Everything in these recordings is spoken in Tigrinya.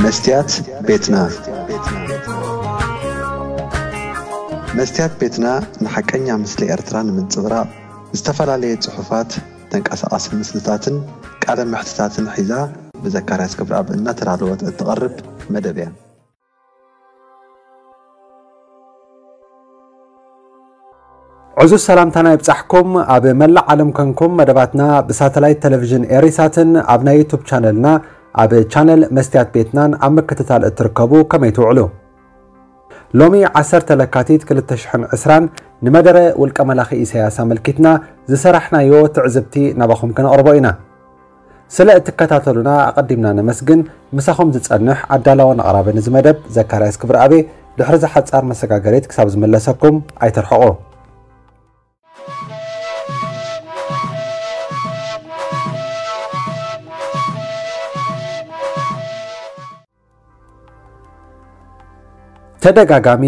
መስትያት ቤትና። መስትያት ቤትና ንሓቀኛ ምስሊ ኤርትራ ንምንጽብራቕ ዝተፈላለየ ጽሑፋት፣ ተንቀሳቓሲ ምስልታትን ቃለ መሕትታትን ሒዛ ብዘካርያስ ክብረኣብ እናተዳለወት እትቐርብ መደብ እያ። ዕዙዝ ሰላምታና ይብጻሕኩም። ኣብ መላእ ዓለም ኮንኩም መደባትና ብሳተላይት ቴሌቪዥን ኤሪሳትን ኣብ ናይ ዩቱብ ቻነልና ኣብ ቻነል መስትያት ቤትናን ኣብ ምክትታል እትርከቡ ከመይ ትውዕሉ? ሎሚ ዓሰርተ ለካቲት ክልተ ሽሕን ዕስራን ንመደረ ውልቀ መላኺ ኢሳያስ ኣመልኪትና ዝሰራሕናዮ ትዕዝብቲ ናባኹም ከነቕርቦ ኢና። ስለ እትከታተሉና ኣቐዲምና ነመስግን። ምሳኹም ዝጸንሕ ኣዳላውን ኣቕራብን እዚ መደብ ዘካርያስ ክብረኣቤ፣ ድሕሪ ዝሓጻር መሰጋገሪት ክሳብ ዝምለሰኩም ኣይትርሕቑ። ተደጋጋሚ፣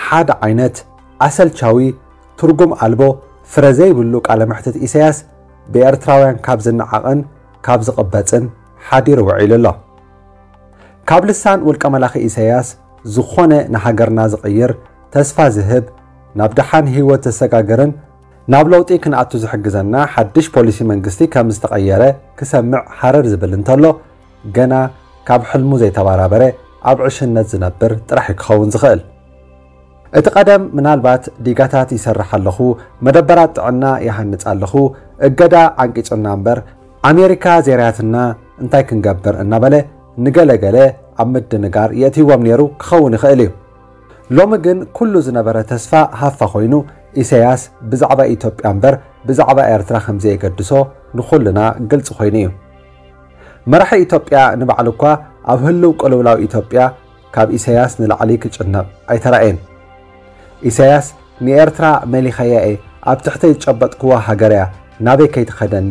ሓደ ዓይነት፣ ኣሰልቻዊ፣ ትርጉም ኣልቦ፣ ፍረ ዘይብሉ ቃለ መሕትት ኢሳያስ ብኤርትራውያን ካብ ዝነዓቕን ካብ ዝቕበጽን ሓዲሩ ውዒሉ ኣሎ። ካብ ልሳን ውልቀ መላኺ ኢሳያስ ዝኾነ ንሃገርና ዝቕይር፣ ተስፋ ዝህብ፣ ናብ ደሓን ህይወት ዘሰጋግርን ናብ ለውጢ ክንኣቱ ዝሕግዘና ሓድሽ ፖሊሲ መንግስቲ ከም ዝተቐየረ ክሰምዕ ሃረር ዝብል እንተሎ፣ ገና ካብ ሕልሙ ዘይተባራበረ ኣብ ዕሽነት ዝነብር ጥራሕ እዩ ክኸውን ዝኽእል። እቲ ቀደም ምናልባት ዲጋታት ይሰርሕ ኣለኹ፣ መደበራት ጥዕና ይሃንጽ ኣለኹ፣ እገዳ ዓንቂጹና እምበር ኣሜሪካ ዜርያትና እንታይ ክንገብር እናበለ ንገለገለ ኣብ ምድንጋር የእትይዎም ነይሩ ክኸውን ይኽእል እዩ። ሎሚ ግን ኩሉ ዝነበረ ተስፋ ሃፋ ኮይኑ ኢሳያስ ብዛዕባ ኢትዮጵያ እምበር ብዛዕባ ኤርትራ ከም ዘየገድሶ ንኹልና ግልጺ ኮይኑ እዩ። መራሒ ኢትዮጵያ ንባዕሉ እኳ ኣብ ህልው ቅልውላው ኢትዮጵያ ካብ ኢሳያስ ንላዕሊ ክጭነቕ ኣይተራእየን። ኢሳያስ ንኤርትራ መሊኸያ እየ፣ ኣብ ትሕተይ ዝጨበጥክዋ ሃገር እያ፣ ናበይ ከይትኸደኒ፣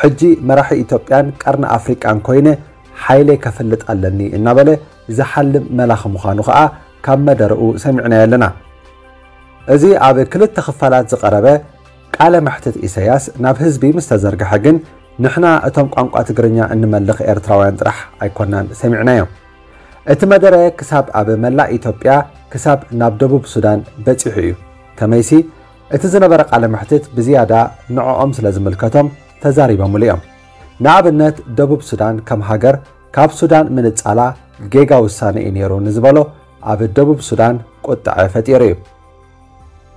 ሕጂ መራሒ ኢትዮጵያን ቀርኒ ኣፍሪቃን ኮይነ ሓይለይ ከፍልጥ ኣለኒ እናበለ ዝሓልም መላኺ ምዃኑ ከኣ ካብ መደረኡ ሰሚዕናዮ ኣለና። እዚ ኣብ ክልተ ክፋላት ዝቐረበ ቃለ መሕትት ኢሳያስ ናብ ህዝቢ ምስ ተዘርግሐ ግን ንሕና እቶም ቋንቋ ትግርኛ እንመልኽ ኤርትራውያን ጥራሕ ኣይኮናን ሰሚዕናዮ። እቲ መደረ ክሳብ ኣብ መላእ ኢትዮጵያ ክሳብ ናብ ደቡብ ሱዳን በጺሑ እዩ። ከመይሲ እቲ ዝነበረ ቃለ መሕትት ብዝያዳ ንዕኦም ስለ ዝምልከቶም ተዛሪቦምሉ እዮም። ንኣብነት ደቡብ ሱዳን ከም ሃገር ካብ ሱዳን ምንጻላ ጌጋ ውሳነ እዩ ነይሩ ንዝበሎ ኣብ ደቡብ ሱዳን ቁጥዐ ፈጢሩ እዩ።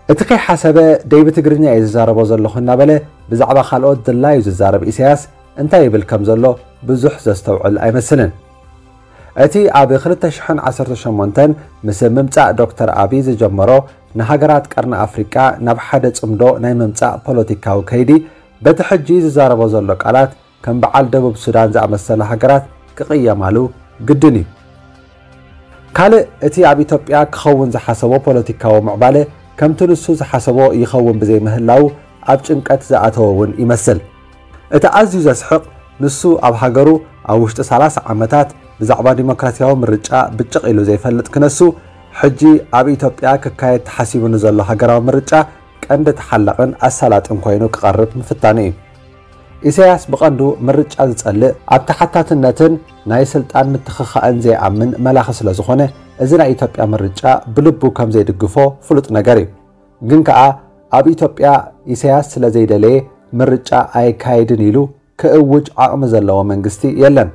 እቲ ከይሓሰበ ደይ ብትግርኛ እየ ዝዛረቦ ዘለኹ እናበለ ብዛዕባ ካልኦት ድላዩ ዝዛረብ ኢሳያስ እንታይ ይብል ከም ዘሎ ብዙሕ ዘስተውዕል ኣይመስልን። እቲ ኣብ ክልተ ሽሕን ዓሰርተ ሸሞንተን ምስ ምምጻእ ዶክተር ኣቢይ ዝጀመሮ ንሃገራት ቀርኒ ኣፍሪቃ ናብ ሓደ ጽምዶ ናይ ምምጻእ ፖለቲካዊ ከይዲ በቲ ሕጂ ዝዛረቦ ዘሎ ቃላት ከም በዓል ደቡብ ሱዳን ዝኣመሰላ ሃገራት ክቕየማሉ ግድን እዩ። ካልእ እቲ ኣብ ኢትዮጵያ ክኸውን ዝሓሰቦ ፖለቲካዊ ምዕባለ ከምቲ ንሱ ዝሓሰቦ ይኸውን ብዘይምህላው ኣብ ጭንቀት ዝኣተወ እውን ይመስል። እቲ ኣዝዩ ዘስሕቕ ንሱ ኣብ ሃገሩ ኣብ ውሽጢ ሰላሳ ዓመታት ብዛዕባ ዲሞክራሲያዊ ምርጫ ብጭቕ ኢሉ ዘይፈልጥ ክነሱ ሕጂ ኣብ ኢትዮጵያ ክካየድ ተሓሲቡ ንዘሎ ሃገራዊ ምርጫ ቀንዲ ተሓላቕን ኣሳላጥን ኮይኑ ክቐርብ ምፍታኑ እዩ። ኢሳያስ ብቐንዱ ምርጫ ዝጸልእ ኣብ ተሓታትነትን ናይ ስልጣን ምትኽኻእን ዘይኣምን መላኺ ስለ ዝኾነ እዚ ናይ ኢትዮጵያ ምርጫ ብልቡ ከም ዘይድግፎ ፍሉጥ ነገር እዩ። ግን ከኣ ኣብ ኢትዮጵያ ኢሳያስ ስለ ዘይደለየ ምርጫ ኣይካየድን ኢሉ ክእውጅ ዓቕሚ ዘለዎ መንግስቲ የለን።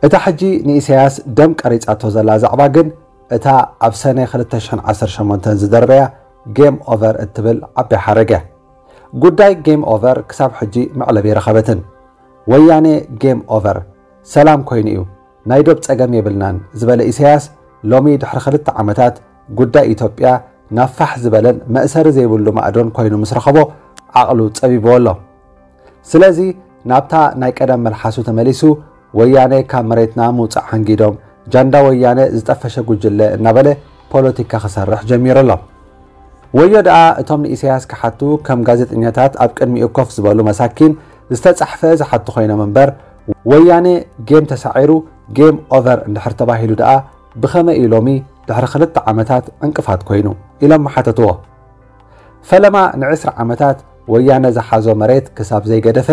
እታ ሕጂ ንኢሳያስ ደም ቀሪጻቶ ዘላ ዛዕባ ግን እታ ኣብ ሰነ ክልተ ሽሕን ዓሰርተ ሸሞንተን ዝደርበያ ጌም ኦቨር እትብል ዓባይ ሓረግ እያ። ጉዳይ ጌም ኦቨር ክሳብ ሕጂ መዕለቢ ኣይረኸበትን። ወያነ ጌም ኦቨር፣ ሰላም ኮይኑ እዩ፣ ናይ ዶብ ጸገም የብልናን ዝበለ ኢሳያስ ሎሚ ድሕሪ ክልተ ዓመታት ጉዳይ ኢትዮጵያ ናብ ፋሕ ዝበለን መእሰሪ ዘይብሉ ማእዶን ኮይኑ ምስ ረኸቦ ዓቕሉ ጸቢብዎ ኣሎ። ስለዚ ናብታ ናይ ቀደም መልሓሱ ተመሊሱ ወያነ ካብ መሬትና ምውጻእ ሓንጊዶም ጃንዳ ወያነ ዝጠፈሸ ጉጅለ እናበለ ፖለቲካ ክሰርሕ ጀሚሩ ኣሎ። ወዮ ደኣ እቶም ንኢሳያስ ክሓቱ ከም ጋዜጠኛታት ኣብ ቅድሚኡ ኮፍ ዝበሉ መሳኪን ዝተጻሕፈ ዝሓቱ ኮይኖም እምበር ወያነ ጌም ተሳዒሩ ጌም ኦቨር እንድሕር ተባሂሉ ደኣ ብኸመይ እዩ ሎሚ ድሕሪ ክልተ ዓመታት ዕንቅፋት ኮይኑ ኢሎም ምሓተትዎ። ፈለማ ንዕስራ ዓመታት ወያነ ዝሓዞ መሬት ክሳብ ዘይገደፈ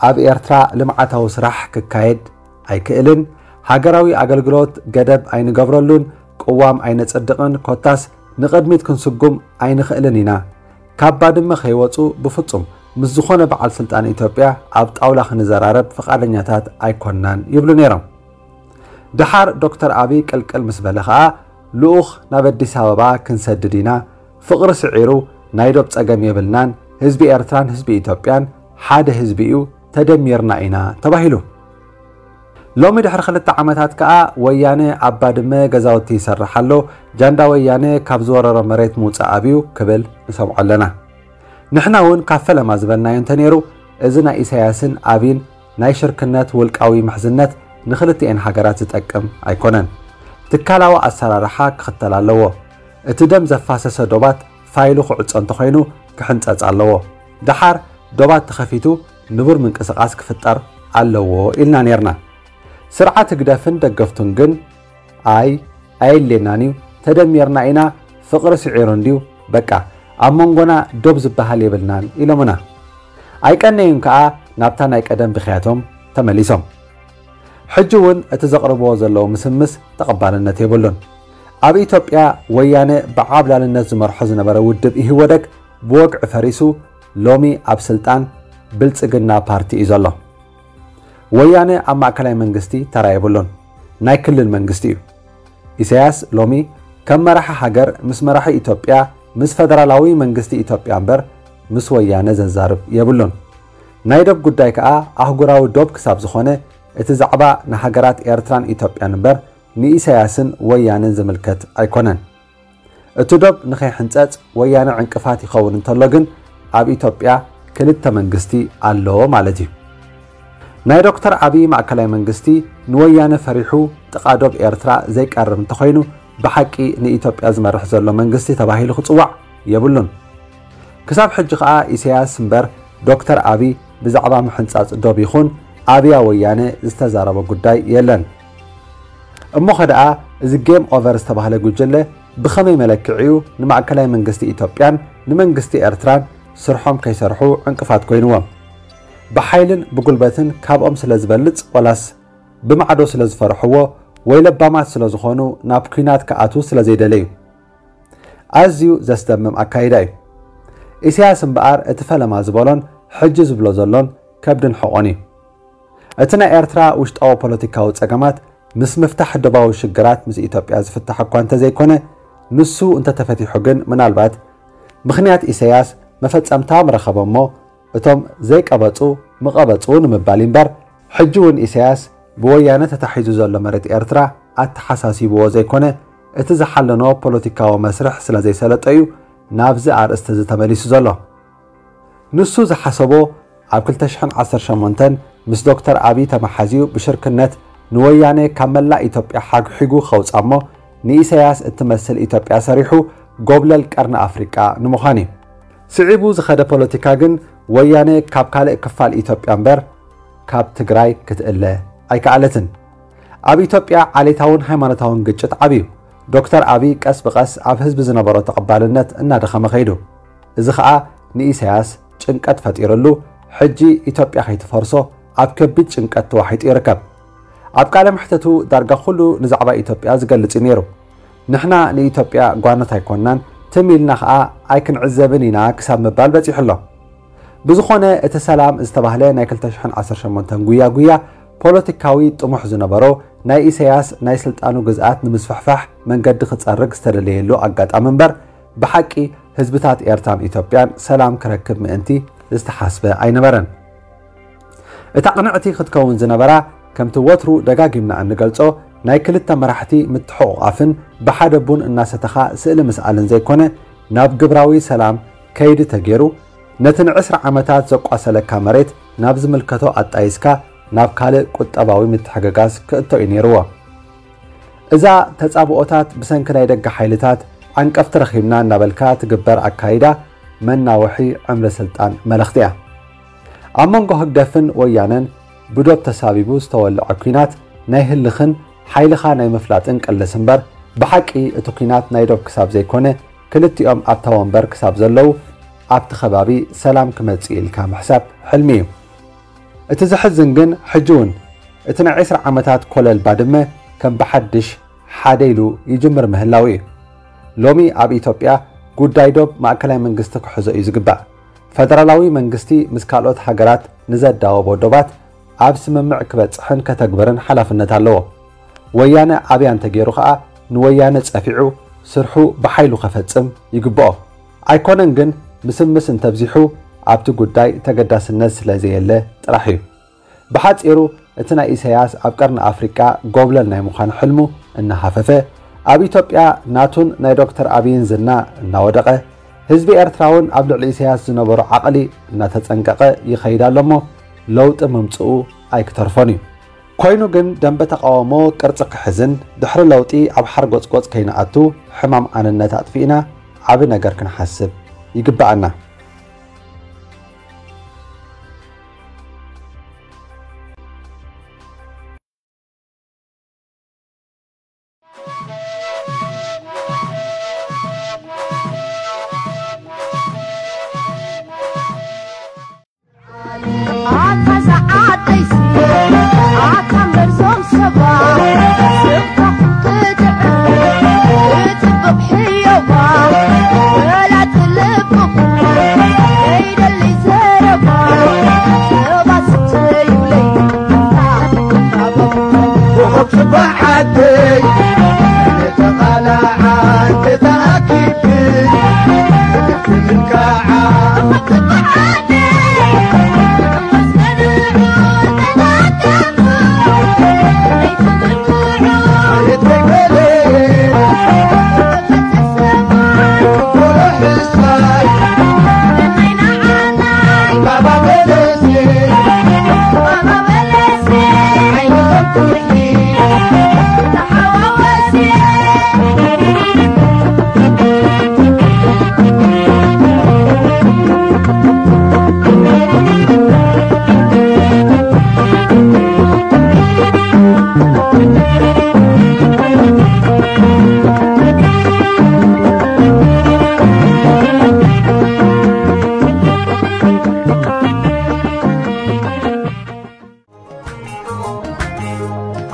ኣብ ኤርትራ ልምዓታዊ ስራሕ ክካየድ ኣይክእልን፣ ሃገራዊ ኣገልግሎት ገደብ ኣይንገብረሉን፣ ቅዋም ኣይነጸድቕን፣ ኮታስ ንቕድሚት ክንስጉም ኣይንኽእልን ኢና። ካብ ባድመ ከይወጹ ብፍጹም ምስ ዝኾነ በዓል ስልጣን ኢትዮጵያ ኣብ ጣውላ ክንዘራረብ ፍቓደኛታት ኣይኮንናን ይብሉ ነይሮም። ደሓር ዶክተር ኣቢይ ቅልቅል ምስ በለ ኸኣ ልኡኽ ናብ ኣዲስ ኣበባ ክንሰድድ ኢና፣ ፍቕሪ ስዒሩ ናይ ዶብ ጸገም የብልናን፣ ህዝቢ ኤርትራን ህዝቢ ኢትዮጵያን ሓደ ህዝቢ እዩ፣ ተደሚርና ኢና ተባሂሉ። ሎሚ ድሕሪ ክልተ ዓመታት ከኣ ወያነ ኣብ ባድመ ገዛውቲ ይሰርሕ ኣሎ፣ ጃንዳ ወያነ ካብ ዝወረሮ መሬት ምውጻእ ኣብዩ ክብል ንሰምዖ ኣለና። ንሕና እውን ካብ ፈለማ ዝበልናዮ እንተነይሩ፣ እዚ ናይ ኢሳያስን ኣብይን ናይ ሽርክነት ውልቃዊ ምሕዝነት ንክልቲኤን ሃገራት ዝጠቅም ኣይኮነን። ትካላዊ ኣሰራርሓ ክኽተል ኣለዎ። እቲ ደም ዘፋሰሰ ዶባት ፋይሉ ክዕጾ እንተኾይኑ ክሕንጸጽ ኣለዎ። ደሓር ዶባት ተኸፊቱ ንቡር ምንቅስቓስ ክፍጠር ኣለዎ ኢልና ነይርና። ስርዓት ህግደፍን ደገፍቱን ግን ኣይ ኣየድልየናን እዩ፣ ተደሚርና ኢና፣ ፍቕሪ ስዒሩ እንድዩ፣ በቃ ኣብ መንጎና ዶብ ዝበሃል የብልናን ኢሎምና። ኣይቀነዩን ከኣ ናብታ ናይ ቀደም ብኽያቶም ተመሊሶም። ሕጂ እውን እቲ ዘቕርብዎ ዘለዉ ምስምስ ተቐባልነት የብሉን። ኣብ ኢትዮጵያ ወያነ ብዓብላልነት ዝመርሖ ዝነበረ ውድብ ኢህወደግ ብወግዒ ፈሪሱ ሎሚ ኣብ ስልጣን ብልጽግና ፓርቲ እዩ ዘሎ። ወያነ ኣብ ማእከላይ መንግስቲ ተራ የብሉን፣ ናይ ክልል መንግስቲ እዩ። ኢሳያስ ሎሚ ከም መራሒ ሃገር ምስ መራሒ ኢትዮጵያ ምስ ፈደራላዊ መንግስቲ ኢትዮጵያ እምበር ምስ ወያነ ዘዛርብ የብሉን። ናይ ዶብ ጉዳይ ከኣ ኣህጉራዊ ዶብ ክሳብ ዝኾነ እቲ ዛዕባ ንሃገራት ኤርትራን ኢትዮጵያን እምበር ንኢሳያስን ወያነን ዝምልከት ኣይኮነን። እቲ ዶብ ንኸይሕንጸጽ ወያነ ዕንቅፋት ይኸውን እንተሎ ግን ኣብ ኢትዮጵያ ክልተ መንግስቲ ኣሎ ማለት እዩ። ናይ ዶክተር ኣብይ ማእከላይ መንግስቲ ንወያነ ፈሪሑ ጥቓ ዶብ ኤርትራ ዘይቀርብ እንተኾይኑ ብሓቂ ንኢትዮጵያ ዝመርሕ ዘሎ መንግስቲ ተባሂሉ ክጽዋዕ የብሉን። ክሳብ ሕጂ ከኣ ኢሳያስ እምበር ዶክተር ኣብይ ብዛዕባ ምሕንጻጽ ዶብ ይኹን ኣብያ ወያነ ዝተዛረቦ ጉዳይ የለን። እሞ ኸደኣ እዚ ጌም ኦቨር ዝተባህለ ጉጅለ ብኸመይ መለክዒኡ ንማእከላይ መንግስቲ ኢትዮጵያን ንመንግስቲ ኤርትራን ስርሖም ከይሰርሑ ዕንቅፋት ኮይንዎም? ብሓይልን ብጉልበትን ካብኦም ስለ ዝበልጽ ወላስ ብማዕዶ ስለ ዝፈርሕዎ ወይ ለባማት ስለ ዝኾኑ ናብ ኲናት ክኣትዉ ስለ ዘይደለዩ? ኣዝዩ ዘስደምም ኣካይዳ እዩ። ኢሳያስ እምበኣር እቲ ፈለማ ዝበሎን ሕጂ ዝብሎ ዘሎን ከብድን ሕቖን እዩ። እቲ ናይ ኤርትራ ውሽጣዊ ፖለቲካዊ ጸገማት ምስ ምፍታሕ ዶባዊ ሽግራት ምስ ኢትዮጵያ ዝፍታሕ እኳ እንተዘይኮነ፣ ንሱ እንተተፈቲሑ ግን ምናልባት ምኽንያት ኢሳያስ መፈጸምታ ምረኸበ እሞ እቶም ዘይቀበጹ ምቐበጹ ንምባል እምበር፣ ሕጂ እውን ኢሳያስ ብወያነ ተታሒዙ ዘሎ መሬት ኤርትራ ኣተሓሳሲብዎ ዘይኮነ፣ እቲ ዝሓለኖ ፖለቲካዊ መስርሕ ስለ ዘይሰለጠ እዩ ናብዚ ኣርእስቲ እዚ ተመሊሱ ዘሎ። ንሱ ዝሓሰቦ ኣብ ክልተ ሽሕን ዓሰርተ ሸሞንተን ምስ ዶክተር ኣብይ ተመሓዝዩ ብሽርክነት ንወያነ ካብ መላእ ኢትዮጵያ ሓግሒጉ ከውጻ እሞ ንኢሳያስ እትመስል ኢትዮጵያ ሰሪሑ ጎብለል ቀርኒ ኣፍሪቃ ንምዃን እዩ። ስዒቡ ዝኸደ ፖለቲካ ግን ወያነ ካብ ካልእ ክፋል ኢትዮጵያ እምበር ካብ ትግራይ ክትእለ ኣይከኣለትን። ኣብ ኢትዮጵያ ዓሌታውን ሃይማኖታውን ግጭት ዓብዩ። ዶክተር ኣብይ ቀስ ብቐስ ኣብ ህዝቢ ዝነበሮ ተቐባልነት እናደኸመ ከይዱ። እዚ ኸኣ ንኢሳያስ ጭንቀት ፈጢርሉ፣ ሕጂ ኢትዮጵያ ከይትፈርሶ ኣብ ከቢድ ጭንቀት ተዋሒጡ ይርከብ። ኣብ ቃለ መሕተቱ ዳርጋ ኩሉ ንዛዕባ ኢትዮጵያ ዝገልጽ እዩ ነይሩ። ንሕና ንኢትዮጵያ ጓኖት ኣይኮንናን፣ ትም ኢልና ኸኣ ኣይክንዕዘብን ኢና ክሳብ ምባል በጺሑ ኣሎ። ብዝኾነ እቲ ሰላም ዝተባህለ ናይ ክልተ ሽሕን ዓሰርተ ሸሞንተን ጉያ ጉያ ፖለቲካዊ ጥሙሕ ዝነበሮ ናይ ኢሳያስ ናይ ስልጣኑ ግዝኣት ንምስፍሕፋሕ መንገዲ ክጸርግ ዝተደለየሉ ኣጋጣሚ እምበር ብሓቂ ህዝብታት ኤርትራን ኢትዮጵያን ሰላም ክረክብ ምእንቲ ዝተሓስበ ኣይነበረን። እታ ቅንዕቲ ክትከውን ዝነበራ ከምቲ ወትሩ ደጋጊምና እንገልጾ ናይ ክልተ መራሕቲ ምትሕቑቓፍን ብሓደ ቡን እናሰተኻ ስእሊ ምስኣልን ዘይኮነ ናብ ግብራዊ ሰላም ከይዲ ተገይሩ ነቲ ንዕስራ ዓመታት ዘቋሰለካ መሬት ናብ ዝምልከቶ ኣጣይስካ ናብ ካልእ ቁጠባዊ ምትሕግጋዝ ክእቶ እዩ ነይርዎ። እዛ ተጻብኦታት ብሰንኪ ናይ ደገ ሓይልታት ዓንቀፍቲ ረኺብና እናበልካ ትግበር ኣካይዳ መናውሒ ዕምሪ ስልጣን መልእኽቲ እያ። ኣብ መንጎ ህግደፍን ወያነን ብዶብ ተሳቢቡ ዝተወልዐ ኲናት ናይ ህልኽን ሓይልኻ ናይ ምፍላጥን ቅልስ እምበር ብሓቂ እቲ ኲናት ናይ ዶብ ክሳብ ዘይኮነ ክልቲኦም ኣብታ ወንበር ክሳብ ዘለዉ ኣብቲ ከባቢ ሰላም ክመጽእ ኢልካ ምሕሳብ ሕልሚ እዩ። እቲ ዘሕዝን ግን ሕጂ እውን እቲ ናይ ዕስራ ዓመታት ኮለል ባድመ ከም ብሓድሽ ሓደ ኢሉ ይጅምር ምህላው እዩ። ሎሚ ኣብ ኢትዮጵያ ጉዳይ ዶብ ማእከላይ መንግስቲ ክሕዞ እዩ ዝግባእ። ፈደራላዊ መንግስቲ ምስ ካልኦት ሃገራት ንዘዳወቦ ዶባት ኣብ ስምምዕ ክበጽሕን ከተግብርን ሓላፍነት ኣለዎ። ወያነ ኣብያ እንተገይሩ ከኣ ንወያነ ጸፊዑ ስርሑ ብሓይሉ ከፈጽም ይግብኦ። ኣይኮነን ግን ምስምስ እንተብዚሑ ኣብቲ ጉዳይ ተገዳስነት ስለ ዘየለ ጥራሕ እዩ። ብሓጺሩ እቲ ናይ ኢሳያስ ኣብ ቀርኒ ኣፍሪቃ ጎብለል ናይ ምዃን ሕልሙ እናሃፈፈ ኣብ ኢትዮጵያ ናቱን ናይ ዶክተር ኣብይን ዝና እናወደቐ ህዝቢ ኤርትራ እውን ኣብ ልዕሊ ኢሳያስ ዝነበሮ ዓቕሊ እናተጸንቀቐ ይኸይድ ኣሎ እሞ ለውጢ ምምጽኡ ኣይክተርፎን እዩ። ኮይኑ ግን ደንበ ተቓውሞ ቅርጺ ክሕዝን ድሕሪ ለውጢ ኣብ ሓርጎጽጎጽ ከይንኣቱ ሕማም ኣንነት ኣጥፊእና ዓቢ ነገር ክንሓስብ ይግብኣና።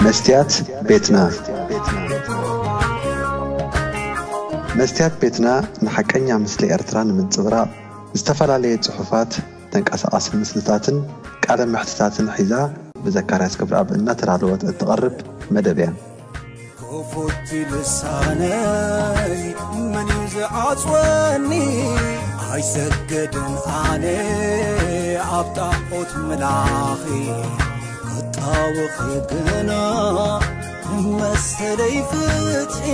መስትያት ቤትና። መስትያት ቤትና ንሓቀኛ ምስሊ ኤርትራ ንምንጽብራቕ ዝተፈላለየ ጽሑፋት፣ ተንቀሳቓሲ ምስልታትን ቃለ መሕትታትን ሒዛ ብዘካርያስ ክብረኣብ እናተዳለወት እትቐርብ መደብ እያ። ክፉት ልሳነይ መን እዩ ዝዓጽወኒ? ኣይሰግድን ኣነ ኣብ ጣዖት ምላኺ፣ ክጣወኺ ግና መሰለይ ፍትሒ።